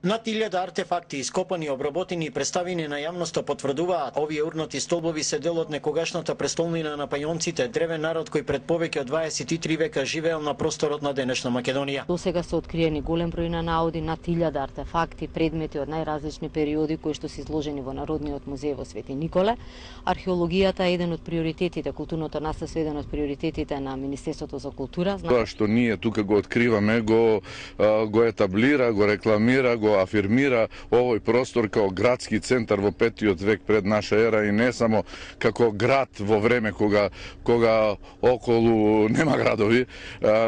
Над 1000 артефакти, ископани, обработени и представени на јавноста потврдуваат овие урнати столбови се дел од некогашната престолнина на пајонците, древен народ кој пред повеќе од 23 века живеел на просторот на денешна Македонија. До сега се откриени голем број на наоди, над 1000 артефакти, предмети од најразлични периоди кои што се изложени во Народниот музеј во Свети Николе. Археологијата е еден од приоритетите, културното наследство е еден од приоритетите на Министерството за култура. Тоа што ние тука го откриваме, го етаблира, го рекламира, го афирмира овој простор као градски центар во 5-тиот век пред наша ера и не само како град во време кога околу нема градови,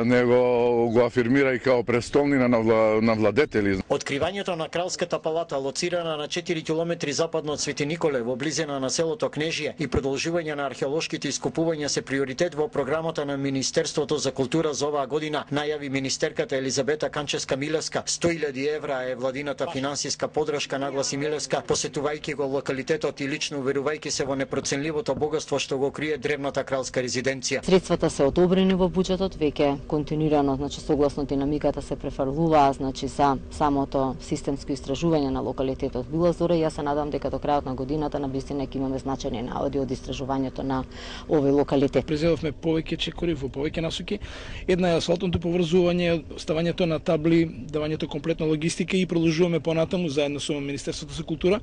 него го афирмира и као престолнина на владетели. Откривањето на Кралската палата, лоцирана на 4 километри западно од Свети Николе, во близина на селото Кнежие, и продолжување на археолошките ископувања се приоритет во програмата на Министерството за култура за оваа година, најави министерката Елизабета Канчевска-Милевска. 100.000 евра е владината финансиска подршка, нагласи Милевска, посетувајќи го локалитетот и лично уверувајќи се во непроценливото богатство што го крие древната кралска резиденција. Средствата се одобрени во буџетот, веќе континуирано, согласно динамиката се префрлуваа, за самото системско истражување на локалитетот Била Зора. Јас се надам дека до крајот на годината на вистина ќе имаме значајни наоди од истражувањето на овој локалитет. Презедовме повеќе чекори во повеќе насоки. Една е асфалтното поврзување, ставањето на табли, давањето комплетна логистика и продолжуваме понатаму заедно со Министерството за култура.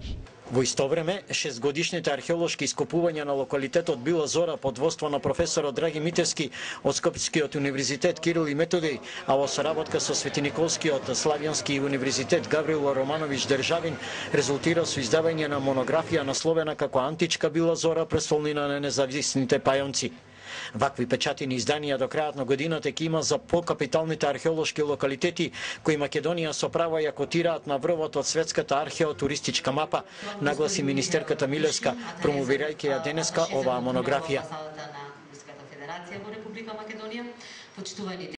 Во исто време, 6-годишните археолошки ископувања на локалитетот Била Зора под воство на професорот Драги Митевски од Скопскиот универзитет Кирил и Методиј, а во соработка со Светиниколскиот Славјански универзитет Гаврило Романович Државин, резултира со издавање на монографија насловена како Античка Била Зора, престолнина на независните пајонци. Вакви печатени изданија до крајот на годината ќе има за покапиталните археолошки локалитети кои Македонија со право ја котираат на врвот од светската археотуристичка мапа, нагласи министерката Милевска, промовирајќи ја денеска оваа монографија.